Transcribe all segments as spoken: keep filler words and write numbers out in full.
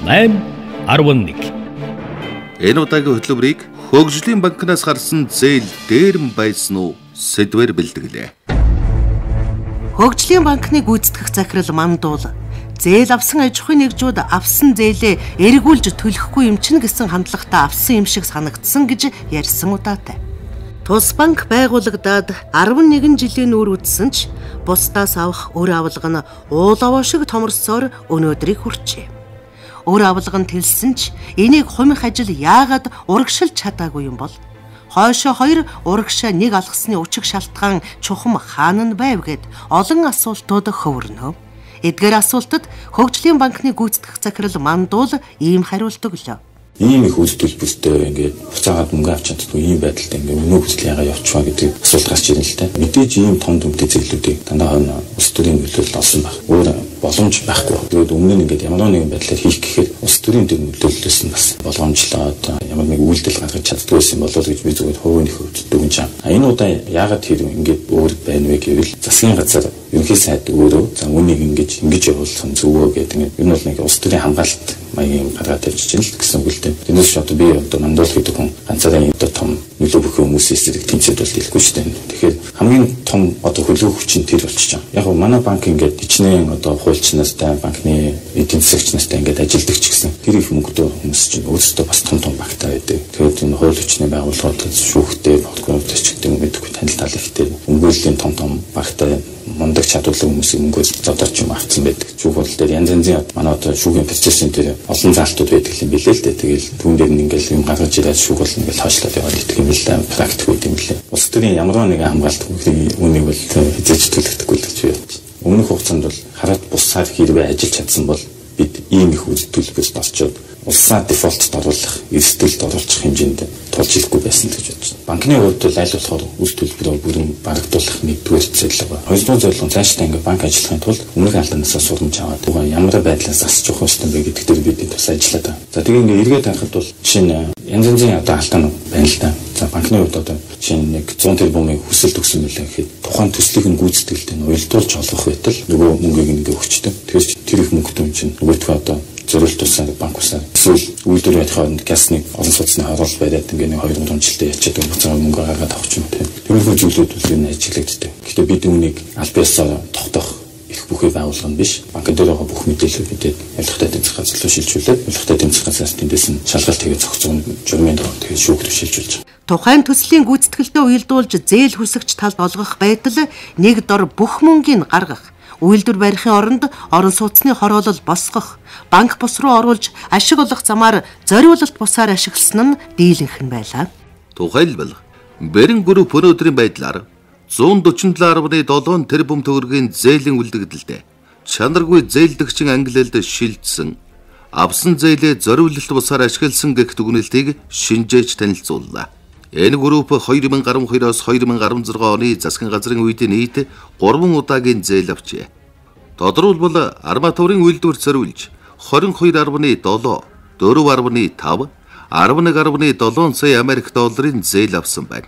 найман арван нэг. Энэ удаагийн хөтөлбөрийг Хөгжлийн банкнаас гарсан зээл дээрэн байсан уу сэдвээр бэлтгэлээ. Хөгжлийн банкны гүйцэтгэх захирал Мандуул зээл авсан аж ахуйн нэгжүүд авсан зээлээ эргүүлж төлөхгүй юм чинь гэсэн хандлагатай авсан юм шиг санагдсан гэж ярьсан удаатай. Тус банк байгуулагдаад арван нэгэн жилийн үр үдсэн ч бусдаас авах өр авалга нь уулаваа шиг томорсоор өнөөдрийг хүрчээ. Өр авалга нь тэлсэн ч энийг хумих ажил яагаад урагшилж чадаагүй юм бол? Хойшоо хоёр урагшаа нэг алгасны өчиг шалтгаан чухам хаана нь байв гэд олон асуултууд хөвөрнө. Эдгээр асуултад Хөгжлийн банкны гүйцэтгэх захирал Мандуул ийм хариулт өглөө. Ийм их үйлдэл бүстэй ингээд буцаагаад мөнгө авч чаддгүй ийм байдалтай ингээд өнөө хүсэл ягаа явчихваа гэдэг асуулт гарч ирнэ л дээ. Мэдээж ийм том дүмтэй зэглүүдийг дандаа улс төрийн нөлөөлөл олсон баг. Өөр боломж байхгүй. Тэгээд өмнө нь ингээд ямар нэгэн байдлаар хийх гэхээр улс төрийн төр нөлөөллөөс нь бас боломжлоод ямар нэг үйлдэл гаргаж чаддгүй байсан болов гэж би зүгээр хувийн хөвдөг юм чам. А энэ удаа яагаад тэр ингээд өөр байна вэ гэвэл засгийн газар ерөнхий сайд өөрөө за үнийг ингэж ингэж явуулах нь зөвөө гэдэг нь энэ бол нэг улс төрийн хамгаалалт маягийн гаргаад тавьчих чинь л гэсэн үгтэй. Тэрнээс одоо би одоо Мандуул гэдэг хүн ганцаараа одоо том нөлөө бүхэн хүмүүсийн эсрэг тэмцээд бол хэлэхгүй шүү дээ. Тэгэхээр хамгийн том одоо хөлөө хүч нь тэр болчих жаа. Яг нь манай банк ингээд ичнээн одоо хуульчнастай банкны эдийн засагчнастай ингээд ажилдаг ч гэсэн тэр их мөнгөтэй хүмүүс чинь өөрсдөө бас том том банктай байдаг. Тэгэхээр энэ хууль хүчний байгууллагууд шүүхтэй подкортой ч гэдэг юм гэдэггүй танил тал ихтэй өмгөөллийн том том банктай мундаг чадварлаг хүмүүсийн мөнгөөс зодорч юм авцсан байдаг. Шүүх хурал дээр янз янзын манай одоо шүүхийн процессын дээр олон заалтууд байдаг юм билээ л дээ. Тэгэл түүн дээр нь ингээл юм гаргаж ирээд шүүх хурал ингээл хойшлоод яваад идэх юм л дээ. Практик үед юм лээ. Улс төрийн ямар нэгэн хамгаалалт үнийг бол хязгаарч төлөгдөхгүй л гэж байна. Өмнөх хугацаанд бол хараад бусаар хэрвээ ажиллаж чадсан бол бид ийм их үйлдвэрлэлд орчоод улсаа дефолтод оруулах, эрсдэлд оруулах хэмжээнд тулж ирэхгүй байсан гэж бодож байна. Банкны хувьд бол аль болохоор үйлдвэрлэл бол бүрэн барагдуулах нэгдүгээр зорилго ба. Хоёрдугаар зорилго нь цаашдаа ингээ банк ажиллахын тулд өмнөх алдаанаас сурамж аваад ямар байдлаар засаж явах ёстой бэ гэдэг дээр бид тус ажиллаад байна. За тэгээ ингээ эргээд харахад бол чинь янз янзын одоо алдаанууд байна л да. За банкны хувьд одоо чинь нэг зуун тэрбумын хүсэл төгсөн мөлий гэхэд тухайн төслийг нь гүйцэтгэлтэй нь уялдуулж олгох байтал нөгөө мөнгийг ингээ өгчтэй. Тэгэхээр тэр их мөнгөтэй юм чинь нөгөөдхөө одоо зорилт тусаа банк усаа эсвэл үйлдвэр байхад гасны олон судасны харуулт бариад ингээ нэг хоёр гурван жилдээ ячаад буцаа мөнгө гаргаад авах юм тийм. Тэрхүү зүйлүүд бол энэ ажиглагддаг. Гэхдээ бид үүнийг аль биесээр тогтоох их бүхий байгуулгын биш. Банк дээр байгаа бүх мэдээлэл бидэд ялгахтай эдийн засгийн газар шилжүүлээд ялгахтай эдийн засгийн газраас тэндээс нь шалгалт хийгээд зохицуун журмын дор тэгээд шүүхт шилжүүлж байгаа. Тухайн төслийн гүйцэтгэлдээ уялдуулж зээл хүсэгч талд олгох байдал нэг дор бүх мөнгийг гаргах, үйлдвэр барихын оронд орон сууцны хороолол босгох, банк бус руу оруулж ашиг олох замаар зориулалт бусаар ашигласан нь дийлэнх нь байлаа. Тухайлбал Бэрэн групп өнөөдрийн байдлаар зуун дөрвөн талын долоон тэрбум төгрөгийн зээлийн үлдэгдэлд чанаргүй зээлдэгчин ангилалд шилжсэн авсан зээлээ зориулалт бусаар ашигласан гэх дүгнэлтийг шинжээж танилцууллаа. Энэ групп хоёр мянга гаруй хоёроос хоёр мянга гаруй зургаан оны засгийн газрын үед нийт гурван удаагийн зээл авчээ. Тодорхойлбол арматурын үйлдвэр зориулж двадцать two point seven, four point five, eleven point seven сая Америк долларын зээл авсан байна.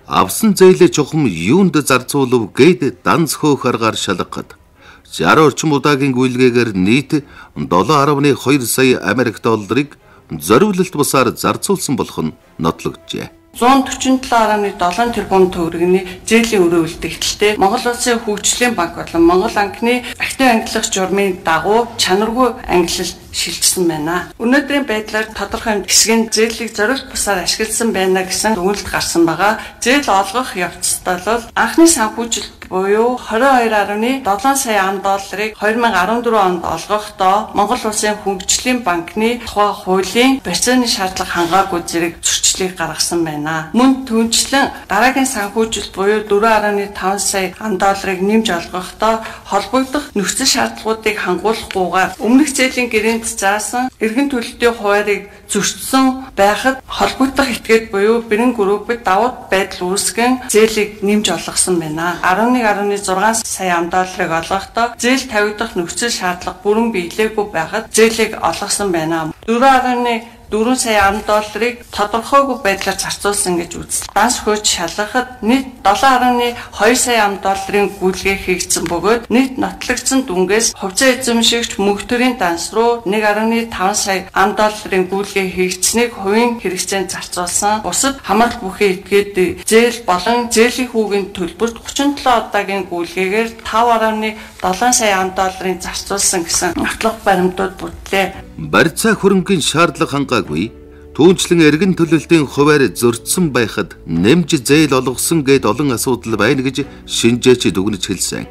Авсан зээлээ чухам юунд зарцуулав гээд данц хөөх аргаар шалгахад шестьдесят орчим удаагийн гүйлгээгээр нийт seven point two сая Америк долларыг зориулалт бусаар зарцуулсан болох нь нотлогджээ. one forty-seven point seven тэрбум төгрөгийн зээлийн өрөө үлдэгдэлтэй Монгол Улсын хөгжлийн банк болон Монгол банкны актив ангиллах журмын дагуу чанаргүй ангиллал шилжсэн байна. Өнөөдрийн байдлаар тодорхой хэсгийн зээлийг зориулт бусаар ашигласан байна гэсэн дүгнэлт гарсан байгаа. Зээл олгох явцдаа бол анхны санхүүжилт буюу twenty-two point seven сая ам долларыг twenty fourteen онд олгохдоо Монгол Улсын хөгжлийн банкны тухай хуулийн барьцааны шаардлага хангаагүй зэрэг зөрчлийг гаргасан байна. Мөн түнчлэн дараагийн санхүүжилт буюу four point five сая ам долларыг нэмж олгохдоо холбогдох нөхцөл шаардлагуудыг хангуулахгүйгээр өмнөх зээлийн гэрээнд заасан эргэн төлөлтийн хуваарийг зөрчсөн байхад холбогдох этгээд буюу Бэрэн группэд давуу байдал үүсгэн зээлийг нэмж олгосон байна. eleven point six сая ам долларыг олгохдоо зээл тавигдах нөхцөл шаардлага бүрэн биелээгүй байхад зээлийг олгосон байна. four point дөрвөн сая ам долларыг тодорхойгүй байдлаар зарцуулсан гэж үздэг. Данс хөөж шалгахад нийт долоон гаруй хоёр сая ам долларын гүйлгээ хийгдсэн бөгөөд нийт нотлогдсон дүнгээс хувьцаа эзэмшигч мөнхтөрийн данс руу нэг гаруй таван сая ам долларын гүйлгээ хийгдсэнийг хувийн хэрэгцээнд зарцуулсан. Бусад хамаарал бүхий этгээд зээл болон зээлийн хүүгийн төлбөрт гучин долоо удаагийн гүйлгээгээр тав гаруй долоон сая ам долларын зарцуулсан гэсэн нотлох баримтууд бүтлээ. Барьцаа хөрөнгөний шаардлага хангаагүй түүнчлэн эргэн төлөлтийн хуваар зөрчсөн байхад нэмж зээл олгосон гэд олон асуудал байна гэж шинжээч дүгнэж хэлсэн.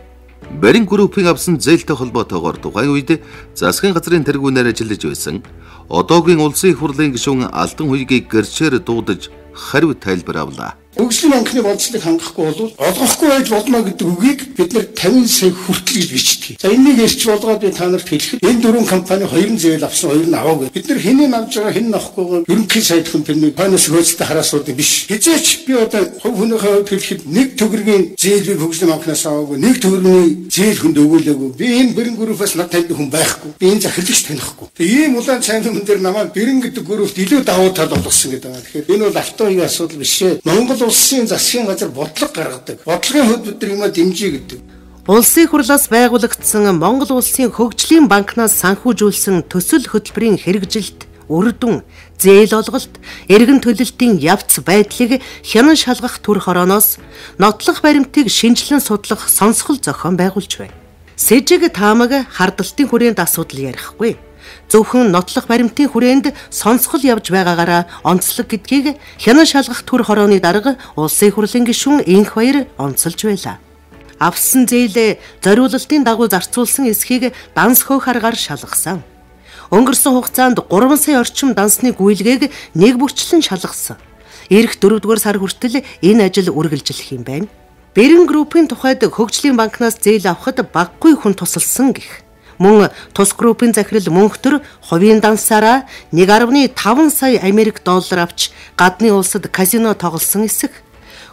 Барин группийн авсан зээлтэй холбоотойгоор тухайн үед засгийн газрын тэргүүнээр ажиллаж байсан одоогийн улсын их хурлын гишүүн Алтан хуйгийг гэрчээр дуудаж хариу тайлбар авлаа. Хөгжлийн банкны бодлыг хангахгүй бол олгохгүй байж болно гэдэг үгийг бид нэр тавин сая хүртэл гэж бичдэг. За энийг эрч болгоод би та нарт хэлэхэд энэ дөрвөн компани хоёрын зээл авсан, хоёр нь аваагүй. Бид нэр хэнийг авж байгаа, хэн нь авахгүйг ерөнхий сайд хүн тэрний финанс хөөцөлтэй хараасууд биш. Хизээч би одоо хувь хүнийхээ хувьд хэлэхэд нэг төгрөгийн зээлийг хөгжлийн банкнаас аваагүй, нэг төгрөгийн зээл хүнд өгүүлээгүй. Би энэ бэрэн группээс над танд хүн байхгүй. Би энэ захирагч танихгүй. Тэгээ ийм улаан цайны хүн дээр намайг бэрэн гэдэг группт илүү давуу тал болгосон гэдэг байна. Тэгэхээр энэ бол автогийн асуудал биш ээ. Монгол улсын засгийн газар бодлого гаргадаг. Бодлогын хөтөлбөр юмаа дэмжиж гэдэг. Улсын хурлаас байгуулагдсан Монгол улсын хөгжлийн банкнаас санхүүжүүлсэн төсөл хөтөлбөрийн хэрэгжилт, үр дүн, зээл олголт, эргэн төлөлтийн явц байдлыг хянан шалгах төр хорооноос нотлох баримтыг шинжилэн судлах сонсгол зохион байгуулж байна. Сэжиг таамаг хардалтын хүрээнд асуудал ярихгүй. Зөвхөн нотлох баримтын хүрээнд сонсгол явж байгаагаараа онцлог гэдгийг хянан шалгах төр хорооны дарга улсын хурлын гишүүн Инх Баяр онцолж байлаа. Авсан зээлээ зориулалтын дагуу зарцуулсан эсхийг данс хөөх аргаар шалгасан. Өнгөрсөн хугацаанд гурван сая орчим дансны гүйлгээг нэг бүрчлэн шалгасан. Ирэх дөрөвдүгээр сар хүртэл энэ ажил үргэлжлэх юм байна. Бэрэн группийн тухайд хөгжлийн банкнаас зээл авахд баггүй хүн тусалсан гэх. Мөн тус группийн захирал мөнхтөр хувийн дансаараа нэг гаруй таван сая Америк доллар авч гадны улсад казино тоглосон эсэх.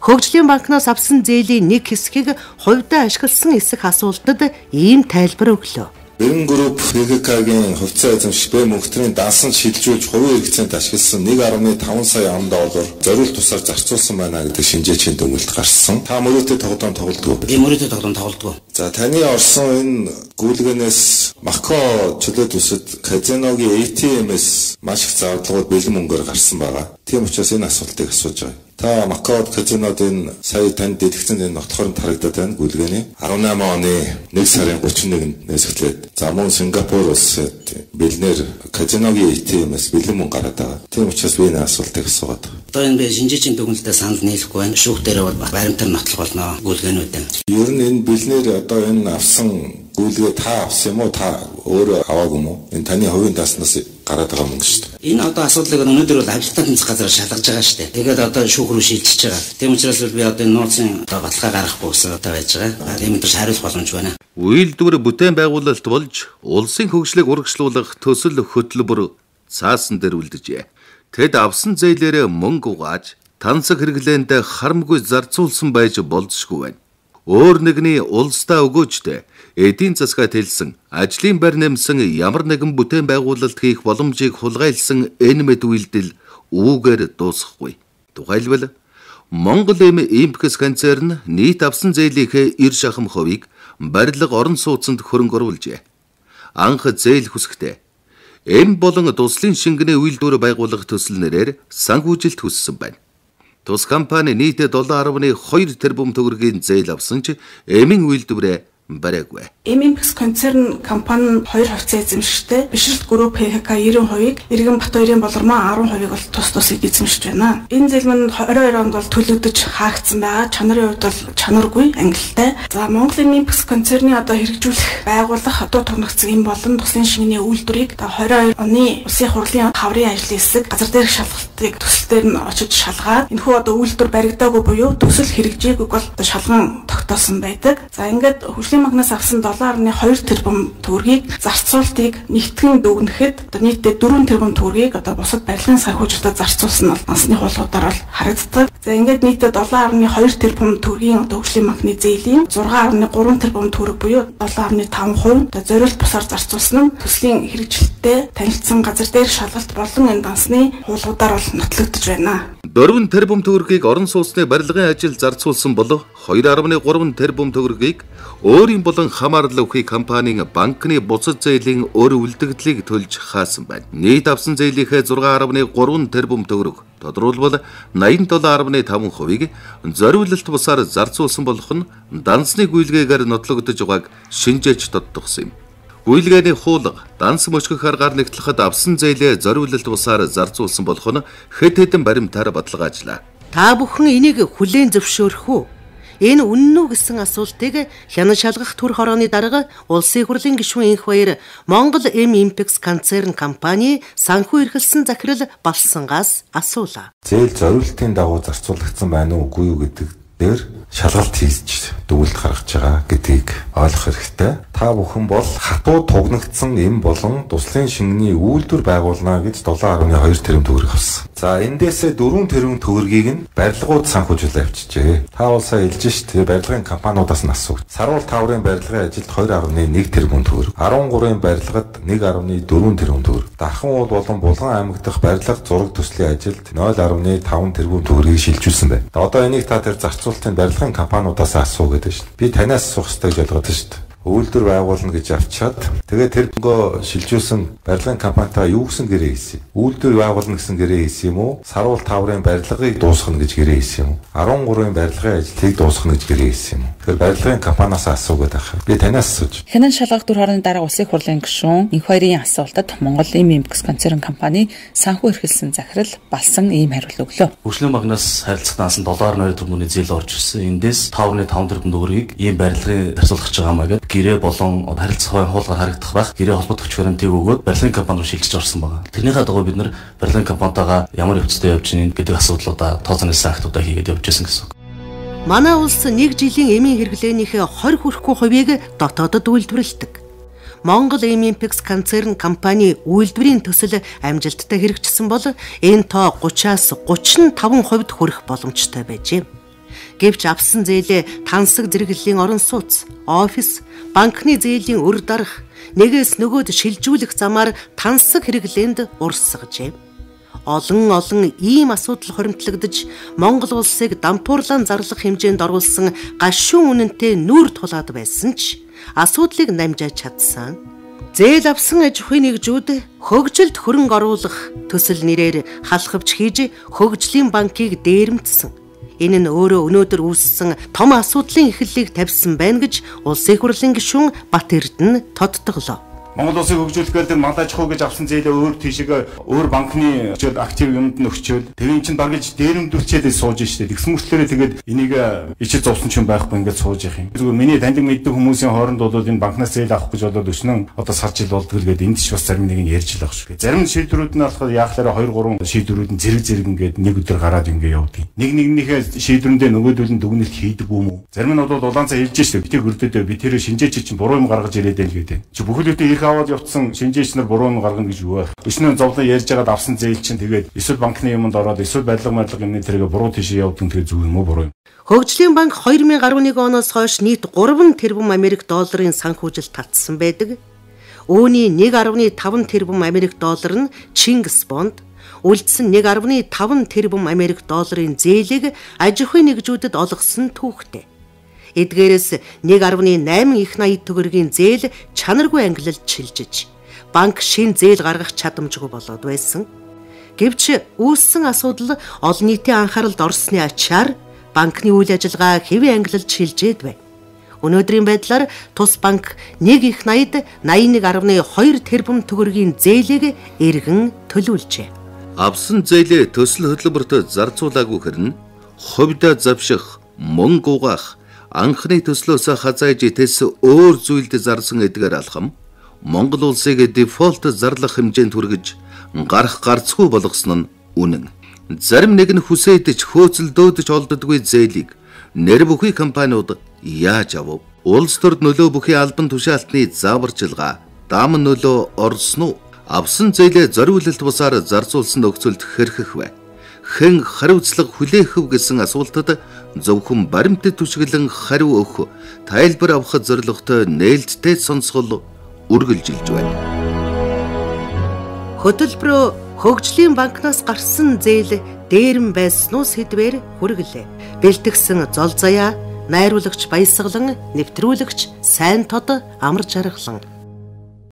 Хөгжлийн банкнаас авсан зээлийн нэг хэсгийг хувьдаа ашигласан эсэх асуултад ийм тайлбар өглөө. Бэрэн групп ХГК-гийн хувьцаа эзэмших Б мөнхтрийн дансанд шилжүүлж хувийн хэрэгцээнд ашигласан нэг гаруй таван сая ам доллар зориулт тусаар зарцуулсан байна гэдэг шинжээчийн дүгнэлт гарсан. Та мөрөөдөө тоглоом тоглодгоо. Би мөрөөдөө тоглоом тоглодгоо. За таны орсон энэ гүйлгээнээс Мако чөлөөт үсэд казиногийн эй ти эм-с маш их зардалууд бэлэн мөнгөөр гарсан байгаа. Тийм учраас энэ асуултыг асууж байгаа. Та Макаод казинод энэ сая танд дэлгэцэн энэ нотлохоор тарагдаад байна гүйлгээний арван намын оны нэг сарын гучин нэгэнд нээсгэлээд за мөн Сингапур улсад бэлнээр казиногийн эй ти эм-с бэлэн мөнгө гараад байгаа. Тийм учраас би энэ асуултыг асуугаад байна. Одоо энэ би шинжээчийн дүгнэлтэд санал нийлэхгүй байна. Шүүхтээр бол баримтаар нотлох болно гүйлгээнүүдэн. Ер нь энэ бэлнээр одоо энэ авсан гүйлгээ та авсан юм уу та өөрөө аваагүй юм уу? Энэ таны хувийн даснаас гараад байгаа мөнгө шүү дээ. Энэ одоо асуудлыг өнөөдөр бол авилтаа тэнцэх газар шалгаж байгаа шүү дээ. Тэгээд одоо шүүх рүү шилжиж байгаа. Тийм учраас би одоо энэ нууцын одоо баталгаа гаргахгүй гэсэн одоо байж байгаа. Тийм учраас хариулах боломж байна. Үйлдвэр бүтээн байгуулалт болж улсын хөгжлийг урагшлуулах төсөл хөтөлбөр цаасан дээр үлджээ. Тэд авсан зээлээрээ мөнгө угааж тансаг хэрэглээнд харамгүй зарцуулсан байж болзошгүй байна. Өөр нэгний улсдаа өгөөжтэй эдийн засгаад хэлсэн ажлын байр нэмсэн ямар нэгэн бүтээн байгуулалт хийх боломжийг хулгайлсан энэ мэд үйлдэл үүгээр дуусахгүй. Тухайлбал Монгол эм импекс концерн нийт авсан зээлийнхээ эр шахам хувийг барилга орон сууцанд хөрөнгө оруулжээ. Анх зээл хүсэхдээ эм болон туслын шингэний үйлдвэр байгуулах төсөл нэрээр санхүүжилт хүссэн байна. Тус компани нийтдээ долоо гаруй хоёр тэрбум төгрөгийн зээл авсан ч эмийн үйлдвэрээ бариаггүй. Импекс концерн компани хоёр хувьцаа эзэмшигтэй Бишрэлт групп ХК девяносто хувийг, Иргэн Батбаярын болормоо арван хувийг бол тус тусыг эзэмшиж байна. Энэ зээл мань двадцать двадцать онд бол төлөгдөж хаагдсан байгаа. Чанарын хувьд бол чанаргүй, ангилалтай. За Монголын Импекс концерны одоо хэрэгжүүлэх, байгуулах, одоо томногцсон юм болон туслын шингэний үйлдвэрийг двадцать двадцать оны улсын хурлын хаврын ажлын хэсэг газар дээрх шалгалт шалгалтыг төсөл дээр нь очиж шалгаад энэхүү одоо үйлдвэр баригдаагүй буюу төсөл хэрэгжээгүйг бол одоо шалган тогтоосон байдаг. За ингээд хөгжлийн банкнаас авсан долоо арван хоёр тэрбум төгрөгийг зарцуултыг нэгтгэн дүгнэхэд одоо нийтдээ дөрвөн тэрбум төгрөгийг одоо бусад барилгын санхүүжилтөд зарцуулсан нь насны хуулиудаар бол харагддаг. За ингээд нийтдээ долоо арван хоёр тэрбум төгрөгийн одоо хөгжлийн банкны зээлийн зургаан арван гурван тэрбум төгрөг буюу долоо арван таван хувь одоо зориулт бусаар зарцуулсан нь төслийн хэрэгжилттэй танилцсан газар дээр шалгалт болон энэ дансны хуулиудаар бол нотлогдож байна. дөрвөн тэрбум төгрөгийг орон сууцны барилгын ажил зарцуулсан бол хоёр арван гурван тэрбум төгрөгийг өөрийн болон хамаарал өвхий компанийн банкны буцаж зээлийн өр үлдэгдлийг төлж хаасан байна. Нийт авсан зээлийнхээ зургаан арван гурван тэрбум төгрөг тодорхойлбол найман долоо арван таван хувийг зориулалт бусаар зарцуулсан болох нь дансны гүйлгээгээр нотлогдож байгааг шинжээч тодтогсон юм. Гүйлгээний хуулга данс мөчгөх аргаар нэгтлэхэд авсан зээлээ зориулалт бусаар зарцуулсан болох нь хэд хэдэн баримтаар баталгаажлаа. Та бүхэн энийг хүлээн зөвшөөрөх үү? Энэ үнэн үү гэсэн асуултыг хянан шалгах төр хорооны дарга улсын хурлын гишүүн энх баяр Монгол Эм Импекс концерн компани санхүү эрхэлсэн захирал Балсангаас асуулаа. Зээл зориулалтын дагуу зарцуулагдсан байна уу үгүй юу гэдэг дээр шалгалт хийж дүгнэлт гаргаж байгаа гэдгийг ойлгох хэрэгтэй. Та бүхэн бол хатуу тугнагдсан эм болон туслын шингэний үйлдвэр байгуулна гэж долоо арван хоёр тэрбум төгрөг авсан. За эндээсээ дөрвөн тэрбум төгрөгийг нь барилгууд санхүүжүүлээ авчижээ. Та бол сайн хэлж шít барилгын компаниудаас нь асуув. Саруул таврын барилгын ажилд хоёр арван нэг тэрбум төгрөг, арван гурван барилгад нэг арван дөрвөн тэрбум төгрөг, Дархан уул болон Булган аймаг дахь барилга зураг төслийн ажилд нуль арван таван тэрбум төгрөгийг шилжүүлсэн байна. Одоо энийг та тэр зарцуулалтын барилгын компаниудаас асуу гэдэг шít. Би танаас асуух хэрэгтэй гэж бодож шít. Үйлдвэр байгуулна гэж авчаад тэгээд тэр бөгөө шилжүүлсэн барилгын компанитаа юу гэсэн гэрээ хийсэн. Үйлдвэр байгуулна гэсэн гэрээ хийсэн юм уу? Саруул таврын барилгыг дуусгах гэж гэрээ хийсэн юм уу? арван гурван барилгын ажлыг дуусгах гэж гэрээ хийсэн юм уу? Тэгэхээр барилгын компаниас асуугаад байх. Би танаас асууж. Хянан шалгах төр хорооны дарга улсын хурлын гишүүн энх хоёрын асуултад Монгол Эм Импекс концерн компани санхүү эрхэлсэн захирал Балсан ийм хариулт өглөө. Хөгжлийн банкнаас харилцагнаас долоо арван хоёр тэрбумын зээл орж ирсэн. Эндээс таван таван тэрбум төгрөгийг ийм барилгын зарцуулах гэж байгаа маа гэдэг гэрээ болон харилцаа хуулгаар харагдах байх гэрээ холбогдох гарантиг өгөөд барилгын компани руу шилжиж орсон байна. Тэрнийхээ дагуу бид нар барилгын компанитайгаа ямар явцтай явж гин гэдэг асуудлуудаа тооцооноос актуудаа хийгээд явж байсан гэсэн. Манай улс нэг жилийн эмийн хэрэглээнийхээ хоёр хүрэхгүй хувийг дотоодод үйлдвэрлэдэг. Монгол Эм Импекс концерн компани үйлдвэрийн төсөл амжилттай хэрэгжсэн бол энэ тоо гураваас гурван таван хувьд хүрэх боломжтой байжээ. Гэвч авсан зээлээ тансаг зэрэглэлийн орон сууц, офис, банкны зээлийн өр дарах, нэгээс нөгөөд шилжүүлэх замаар тансаг хэрэглээнд урсгажээ. Олон олон ийм асуудал хоримтлагдж Монгол улсыг дампуурлан зарлах хэмжээнд оруулсан гашуун үнэнтэй нүүр тулаад байсан ч асуудлыг намжааж чадсан. Зээл авсан аж ахуйн нэгжүүд хөгжилд хөрөнгө оруулах төсөл нэрээр халахвч хийж хөгжлийн банкыг дээрэмдсэн. Энэ нь өөрөө өнөөдөр үүссэн том асуудлын эхлэлийг тавьсан байна гэж улсын хурлын гишүүн Бат Эрдэнэ тодтоглоо. Монгол улсыг хөгжүүлэх гэдэг мал аж ахуй гэж авсан зээлээ өөр тийшээ өөр банкны актив юмд нь өгчөөл тэр ин чинь багж дээрэмдүүлчээд сууж штэ. Тэгсэн мөрчлөөрөө тэгээд энийг ичил зовсон ч юм байхгүй ингээд сууж явах юм. Зүгээр миний таньдаг мэддэг хүмүүсийн хооронд бол энэ банкнаас зээл авах гэж болоод өчнөн одоо сар жил болдгоо гэдэг энд ч бас зарим нэг нь ярьж л байгаа шүү. Зарим шийдвэрүүд нь болохоор яахлаараа хоёр гурван шийдвэрүүд нь зэрэг зэрэг ингээд нэг өдөр гараад ингээд явдаг. Нэг нэгнийхээ шийдвэрэндээ нөгөөдөл нь дүгнэлт хийдэг юм уу? Зарим нь бол улаанцаа хэлж штэ. Би тэр хөрдөөдөө би тэр шинжээч чинь буруу юм гаргаж ирээд байл гэдэг. Чи бүхэлдээ аваад явцсан шинжээч нар буруу нь гаргана гэж юу вэ? Өчнөө зовлон ярьж байгаад авсан зээл чинь тэгээд эсвэл банкны юмд ороод эсвэл барилга барилга юмны тэргээ буруу тийшээ явдаг тэгээд зүг юм уу буруу юм. Хөгжлийн банк хоёр мянган арван нэг оноос хойш нийт гурван тэрбум Америк долларын санхүүжилт татсан байдаг. Үүний нэг арван таван тэрбум Америк доллар нь Чингис бонд, үлдсэн нэг арван таван тэрбум Америк долларын зээлийг аж ахуйн нэгжүүдэд олгосон түүхтэй. Эдгээрээс нэг арван найман их найд төгрөгийн зээл чанаргүй ангилалд шилжиж, банк шин зээл гаргах чадамжгүй болоод байсан. Гэвч үүссэн асуудал олон нийтийн анхааралд орсны ачаар банкны үйл ажиллагаа хэвийн ангилалд шилжээд байна. Өнөөдрийн байдлаар тус банк нэг их найд найман нэг арван хоёр тэрбум төгрөгийн зээлийг эргэн төлүүлжээ. Авсан зээлээ төсөл хөтөлбөрт зарцуулаагүй хэрнэ хувьдаа завших, мөнгө угаах, анхны төслөөс хазааж тэс өөр зүйлд зарсан эдгээр алхам Монгол улсыг дефолт зарлах хэмжээнд хүргэж гарах гарцгүй болгосон нь үнэн. Зарим нэг нь хүсэйдэж хөөцөлдөөдөж олддоггүй зээлийг нэр бүхий компаниуд яаж авав? Улс төрд нөлөө бүхий албан тушаалтны зааварчилгаа дам нөлөө орсон уу? Авсан зээлээ зориулалт бусаар зарцуулсан нөхцөлд хэрхэх вэ? Хэн хариуцлага хүлээх вэ гэсэн асуултад зөвхөн баримтат түшиглэн хариу өгөх, тайлбар авах зорилготой нээлттэй сонсгол үргэлжилж байна. Хөтөлбөрөө хөгжлийн банкнаас гарсан зээл дээрэм байснуу сэдвээр хүргэлээ. Бэлтгэсэн зол заяа, найруулагч Баясгалан, нэвтрүүлэгч Сайн тод, Амар жаргалан.